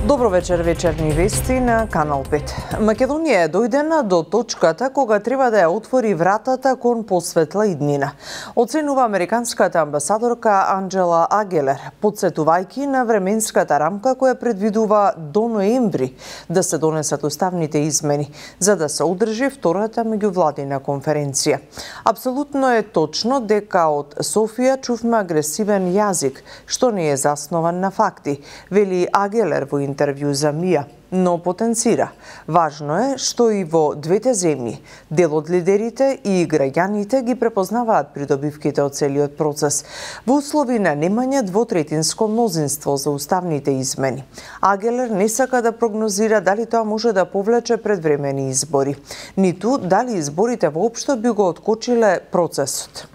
Добро вечер, вечерни вести на Канал 5. Македонија е дојдена до точката кога треба да ја отвори вратата кон посветла иднина. Оценува американската амбасадорка Анджела Агелер, подсетувајќи на временската рамка која предвидува до ноември да се донесат уставните измени, за да се одржи втората меѓувладина конференција. Апсолутно е точно дека од Софија чувме агресивен јазик, што не е заснован на факти, вели Агелер во интервју за МИА, но потенцира. Важно е што и во двете земји дел од лидерите и граѓаните ги препознаваат придобивките од целиот процес во услови на немање двотретинско мнозинство за уставните измени. Агелер не сака да прогнозира дали тоа може да повлече предвремени избори, ниту дали изборите воопшто би го откочиле процесот.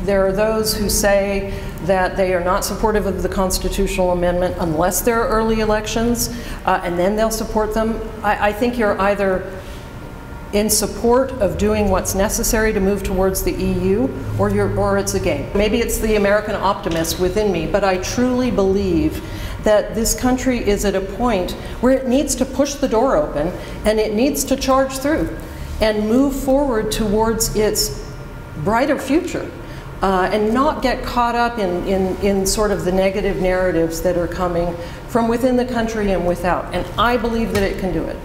There are those who say that they are not supportive of the constitutional amendment unless there are early elections, and then they'll support them. I think you're either in support of doing what's necessary to move towards the EU, or it's a game. Maybe it's the American optimist within me, but I truly believe that this country is at a point where it needs to push the door open and it needs to charge through and move forward towards its brighter future. And not get caught up in sort of the negative narratives that are coming from within the country and without. And I believe that it can do it.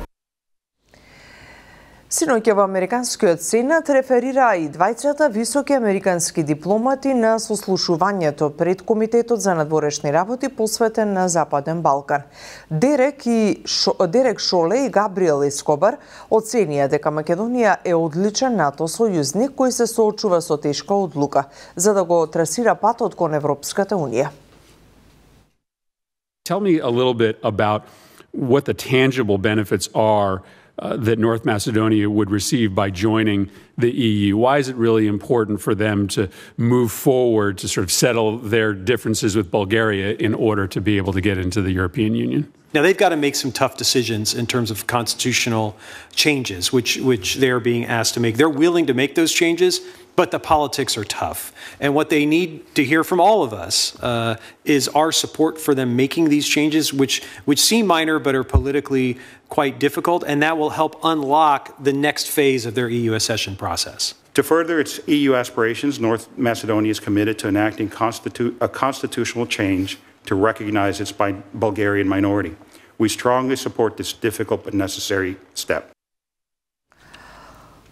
Синоќа во Американскиот сенат реферираа и двајцата високи американски дипломати на сослушувањето пред Комитетот за надворешни работи посветен на Западен Балкан. Дерек Шоле и Габриел Ескобар оценија дека Македонија е одличен НАТО сојузник кој се соочува со тешка одлука за да го трасира патот кон Европската унија. Tell me a little bit about what the tangible benefits are that North Macedonia would receive by joining the EU? Why is it really important for them to move forward to sort of settle their differences with Bulgaria in order to be able to get into the European Union? Now, they've got to make some tough decisions in terms of constitutional changes, which they're being asked to make. They're willing to make those changes, but the politics are tough. And what they need to hear from all of us is our support for them making these changes, which seem minor but are politically quite difficult, and that will help unlock the next phase of their EU accession process. To further its EU aspirations, North Macedonia is committed to enacting a constitutional change to recognize its Bulgarian minority. We strongly support this difficult but necessary step.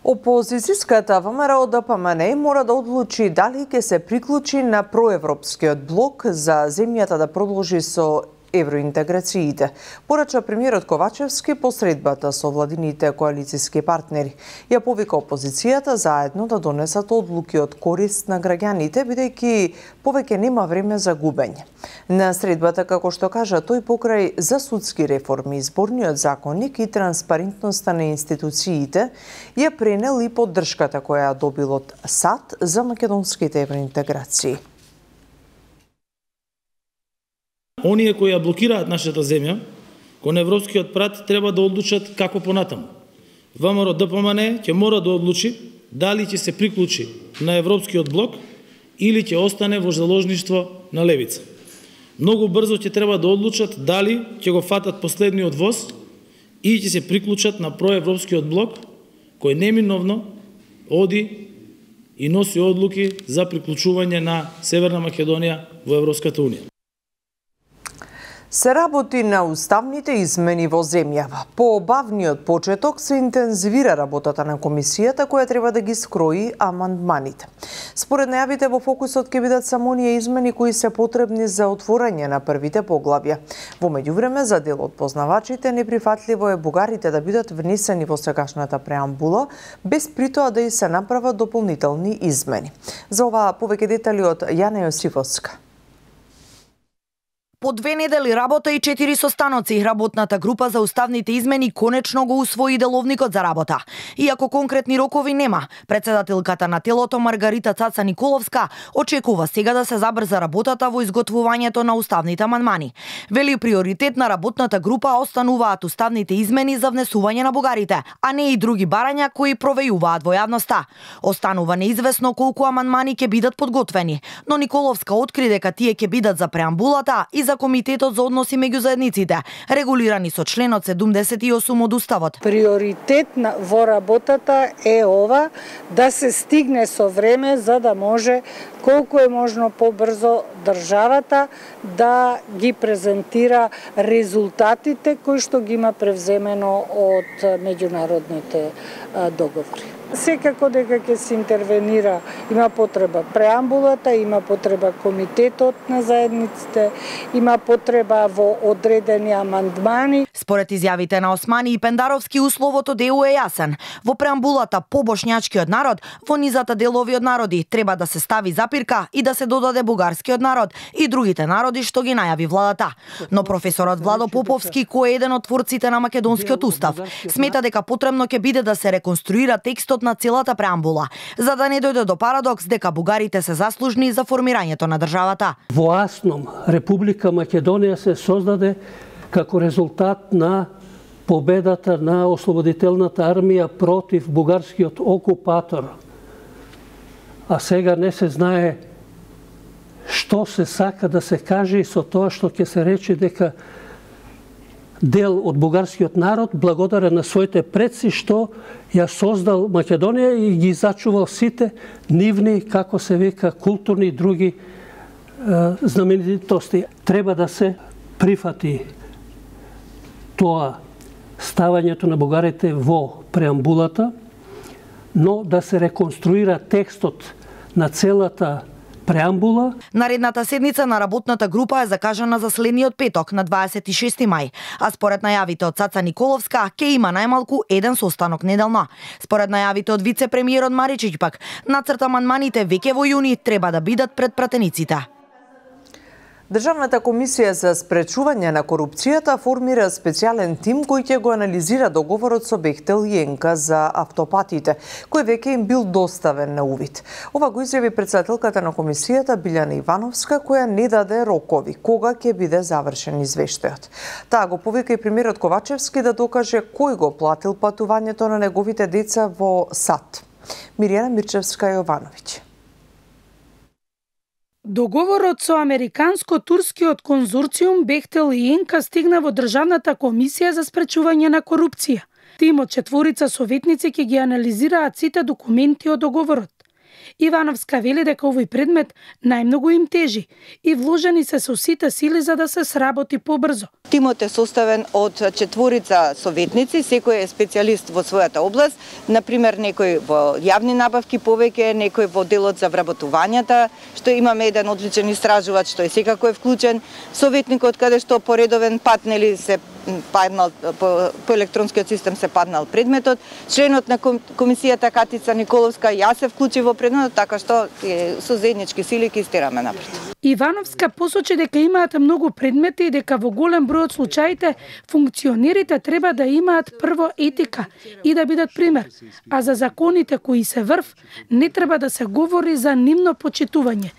Опозицијската ВМРО ДПМН мора да одлучи дали ќе се приклучи на проевропскиот блок за земјата да продолжи со евроинтеграциите, порача премиерот Ковачевски посредбата со владините коалициски партнери. Ја повика опозицијата заедно да донесат одлуки од корист на граѓаните, бидејќи повеќе нема време за губење. На средбата, како што кажа тој, покрај за судски реформи, изборниот законник и транспарентноста на институциите, ја пренел и поддршката која ја добил од САД за македонските евроинтеграции. Оние кои ја блокираат нашата земја кон европскиот прат треба да одлучат како понатаму. ВМРО ДПМН ќе мора да одлучи дали ќе се приклучи на европскиот блок или ќе остане во заложништво на левица. Многу брзо ќе треба да одлучат дали ќе го фатат последниот воз и ќе се приклучат на проевропскиот блок кој неминовно оди и носи одлуки за приклучување на Северна Македонија во Европската унија. Се работи на уставните измени во земјава. По обавниот почеток се интензивира работата на комисијата која треба да ги скрои амандманите. Според најавите во фокусот ќе бидат само оние измени кои се потребни за отворање на првите поглавја. Во меѓувреме, за дел од познавачите неприфатливо е бугарите да бидат внесени во сегашната преамбула, без притоа да и се направат дополнителни измени. За ова повеќе детали од Јана Јосифовска. По 2 недели работа и 4 состаноци, работната група за уставните измени конечно го усвои деловникот за работа. Иако конкретни рокови нема, председателката на телото Маргарита Цаца Николовска очекува сега да се забрза работата во изготвувањето на уставните амандмани. Вели приоритет на работната група остануваат уставните измени за внесување на бугарите, а не и други барања кои провејуваат во јавноста. Останува неизвестно колку амандмани ќе бидат подготвени, но Николовска откри дека тие ќе бидат за преамбулата и за Комитетот за односи меѓу заедниците, регулирани со членот 78 од Уставот. Приоритет во работата е ова да се стигне со време за да може колку е можно побрзо државата да ги презентира резултатите кои што ги има превземено од меѓународните договори. Секако дека ќе се интервенира, има потреба преамбулата, има потреба Комитетот на заедниците, има потреба во одредени амандмани. Според изјавите на Османи и Пендаровски, условот од ЕУ е јасен. Во преамбулата по бошњачкиот народ, во низата делови од народи, треба да се стави запирка и да се додаде бугарскиот народ и другите народи што ги најави владата. Но професорот Владо Поповски, кој е еден од творците на македонскиот устав, смета дека потребно ќе биде да се реконструира текстот на целата преамбула, за да не дојде до парадокс дека бугарите се заслужни за формирањето на државата. Во Асном, Република Македонија се создаде како резултат на победата на ослободителната армија против бугарскиот окупатор. А сега не се знае што се сака да се каже со тоа што ќе се рече дека дел од бугарскиот народ, благодарен на своите предци, што ја создал Македонија и ги зачувал сите нивни, како се века, културни и други знаменитости. Треба да се прифати тоа ставањето на бугарите во преамбулата, но да се реконструира текстот на целата преамбула. Наредната седница на работната група е закажана за следниот петок на 26 мај, а според најавите од Цаца Николовска ќе има најмалку еден состанок неделно. Според најавите од вице-премиерот Маричиќ пак, нацрт амандманите веќе во јуни треба да бидат пред пратениците. Државната комисија за спречување на корупцијата формира специјален тим кој ќе го анализира договорот со Бехтел и Енка за автопатите, кој веќе им бил доставен на увид. Ова го изјави председателката на комисијата Билјана Ивановска, која не даде рокови кога ќе биде завршен извештајот. Таа го повика и премиерот Ковачевски да докаже кој го платил патувањето на неговите деца во САД. Мирјана Мирчевска Јовановиќ. Договорот со американско-турскиот конзорциум Бехтел и Енка стигна во Државната комисија за спречување на корупција. Тимот 4 советници ќе ги анализираат сите документи од договорот. Ивановска вели дека овој предмет најмногу им тежи и вложени се со сите сили за да се сработи побрзо. Тимот е составен од 4 советници, секој е специјалист во својата област, например некој во јавни набавки повеќе, некој во делот за вработувањата, што имаме еден одличен истражувач што е секако е вклучен, советникот каде што по редовен пат нели се паднал по електронскиот систем се паднал предметот, членот на комисијата Катица Николовска, јас се вклучи во предметот, така што со заеднички сили ќе истераме напред. Ивановска посочи дека имаат многу предмети и дека во голем број од случаите функционерите треба да имаат прво етика и да бидат пример, а за законите кои се врв не треба да се говори за нивно почитување.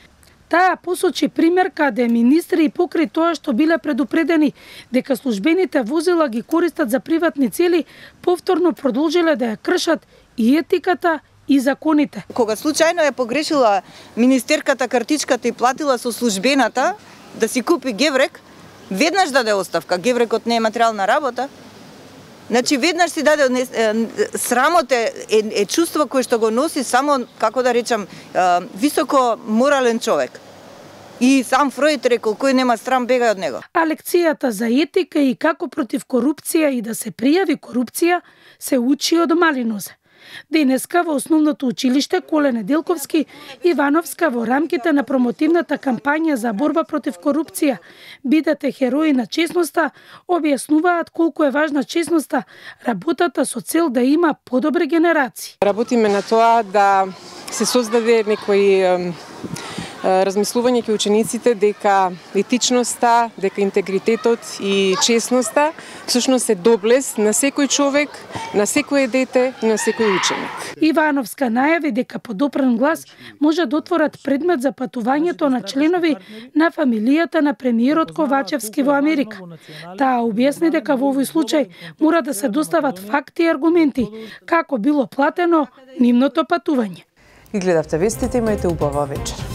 Таа посочи пример каде министри и покрај тоа што биле предупредени дека службените возила ги користат за приватни цели, повторно продолжиле да ја кршат и етиката и законите. Кога случајно е погрешила министерката картичката и платила со службената да си купи геврек, веднаш даде оставка. Геврекот не е материјална работа. Значи веднаш си даде срамот е чувство кое што го носи само, како да речам, високо морален човек. И сам Фројд рекол, кој нема срам бега од него. А лекцијата за етика и како против корупција и да се пријави корупција се учи од мали нозе. Денеска во основното училиште Коле Неделковски Ивановска во рамките на промотивната кампања за борба против корупција "Бидете херои на честноста" објаснуваат колку е важна честноста, работата со цел да има подобри генерации. Работиме на тоа да се создаде некој размислување кај учениците дека етичноста, дека интегритетот и честноста всушност е доблес на секој човек, на секое дете и на секој ученик. Ивановска најави дека подопрен глас може да отворат предмет за патувањето на членови на фамилијата на премиерот Ковачевски во Америка. Таа објасни дека во овој случај мора да се достават факти и аргументи како било платено нивното патување. И гледавте вестите, имајте убава вечер.